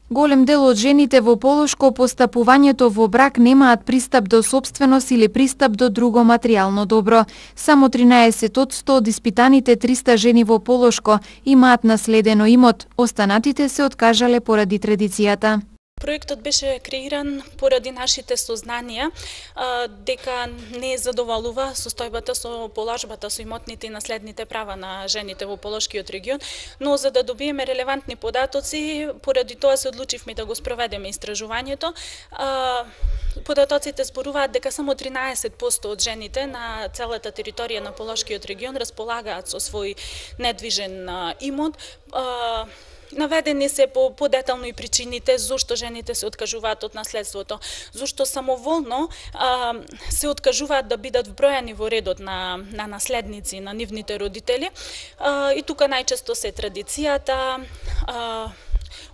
Голем дел од жените во Полошко по стапувањето во брак немаат пристап до сопственост или пристап до друго материјално добро. Само 13% од испитаните 300 жени во Полошко имаат наследено имот, останатите се откажале поради традицијата. Проектот беше креиран поради нашите сознанија дека не задоволува состојбата со положбата со имотните и наследните права на жените во Полошкиот регион, но за да добиеме релевантни податоци, поради тоа се одлучивме да го спроведеме истражувањето. Податоците зборуваат дека само 13% од жените на целата територија на Полошкиот регион располагаат со свој недвижен имот. Наведени се подетално и причините зошто жените се откажуваат од наследството, зошто самоволно се откажуваат да бидат вбројани во редот на наследници на нивните родители. И тука најчесто се традицијата,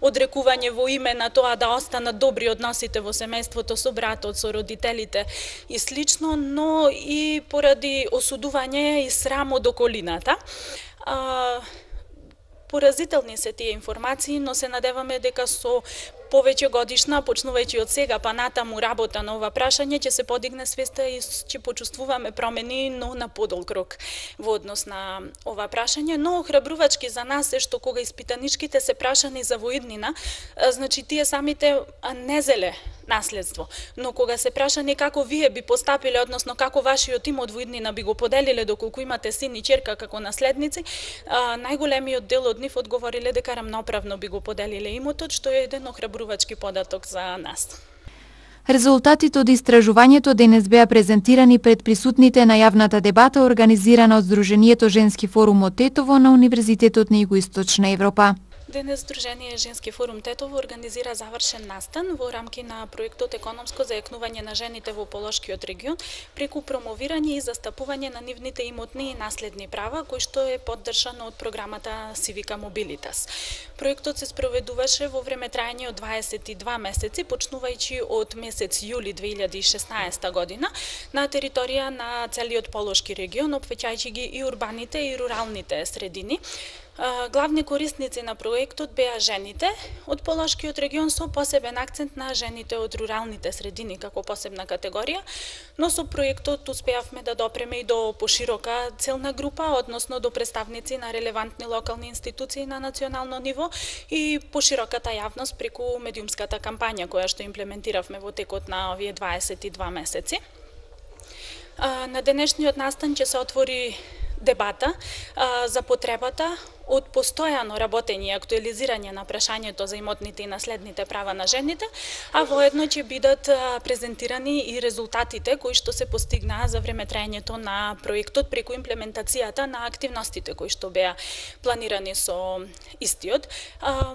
одрекување во име на тоа да останат добри односите во семејството со братот, со родителите и слично, но и поради осудување и срам од околината. Поразителни се тие информации, но се надеваме дека со повеќе годишна, почнувајќи од сега па натаму работа на ова прашање, ќе се подигне свеста и ќе почувствуваме промени, но на подолг рок во однос на ова прашање. Но охрабрувачки за нас е што кога испитаничките се прашани за воиднина, значи тие самите не зеле наследство. Но кога се прашани како вие би постапиле, односно како вашиот имот во иднина би го поделиле доколку имате син и ќерка како наследници, најголемиот дел од нив одговориле дека рамноправно би го поделиле имотот, што е еден охрабрувачки податок за нас. Резултатите од истражувањето денес беа презентирани пред присутните на јавната дебата организирана од Сдруженијето Женски форум од Тетово на Универзитетот на Југоисточна Европа. Денес Сдружение Женски форум Тетово организира завршен настан во рамки на проектот Економско зајакнување на жените во Полошкиот регион преку промовирање и застапување на нивните имотни и наследни права, кој што е поддржан од програмата Civica Mobilitas. Проектот се спроведуваше во време трајање од 22 месеци, почнувајќи од месец јули 2016 година на територија на целиот Полошки регион, опфаќајќи ги и урбаните и руралните средини. Главни корисници на проектот беа жените од Полошкиот регион со посебен акцент на жените од руралните средини како посебна категорија, но со проектот успеавме да допреме и до поширока целна група, односно до представници на релевантни локални институции на национално ниво и пошироката јавност преку медиумската кампања која што имплементиравме во текот на овие 22 месеци. На денешниот настан ќе се отвори дебата за потребата од постојано работење и актуализирање на прашањето за имотните и наследните права на жените, а воедно ќе бидат презентирани и резултатите кои што се постигнаа за време трајањето на проектот преку имплементацијата на активностите кои што беа планирани со истиот.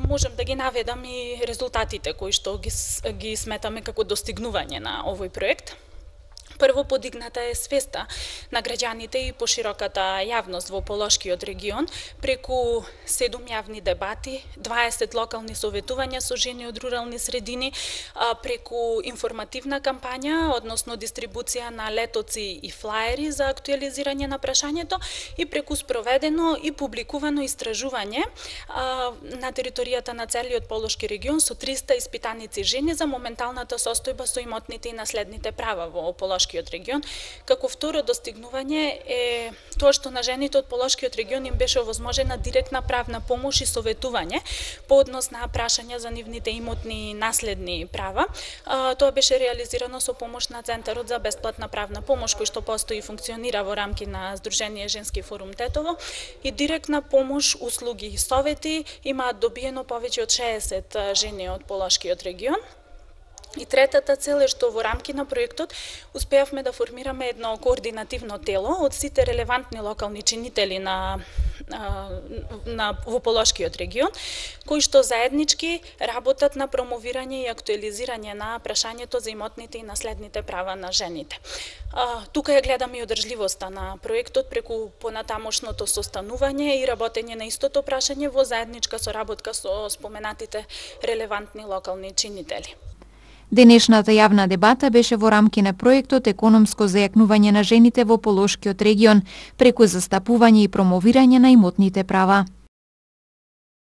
Можам да ги наведам и резултатите кои што ги сметаме како достигнување на овој проект. Прво, подигната е свеста на граѓаните и пошироката јавност во Полошкиот регион преку 7 јавни дебати, 20 локални советувања со жени од рурални средини, преку информативна кампања, односно дистрибуција на летоци и флаери за актуализирање на прашањето и преку спроведено и публикувано истражување на територијата на целиот Полошки регион со 300 испитаници жени за моменталната состојба со имотните и наследните права во Полошкиот регион. Како второ достигнување е тоа што на жените од Полошкиот регион им беше овозможена директна правна помош и советување по однос на прашања за нивните имотни и наследни права. Тоа беше реализирано со помош на Центарот за бесплатна правна помош кој што постои и функционира во рамки на Сдружение Женски форум Тетово и директна помош, услуги и совети имаат добиено повеќе од 60 жени од Полошкиот регион. И третата цел е што во рамки на проектот успеавме да формираме едно координативно тело од сите релевантни локални чинители во Полошкиот регион, кои што заеднички работат на промовирање и актуализирање на прашањето за имотните и наследните права на жените. Тука ја гледаме и одржливоста на проектот преку понатамошното состанување и работење на истото прашање во заедничка соработка со споменатите релевантни локални чинители. Денешната јавна дебата беше во рамки на проектот Економско зајакнување на жените во Полошкиот регион преку застапување и промовирање на имотните права.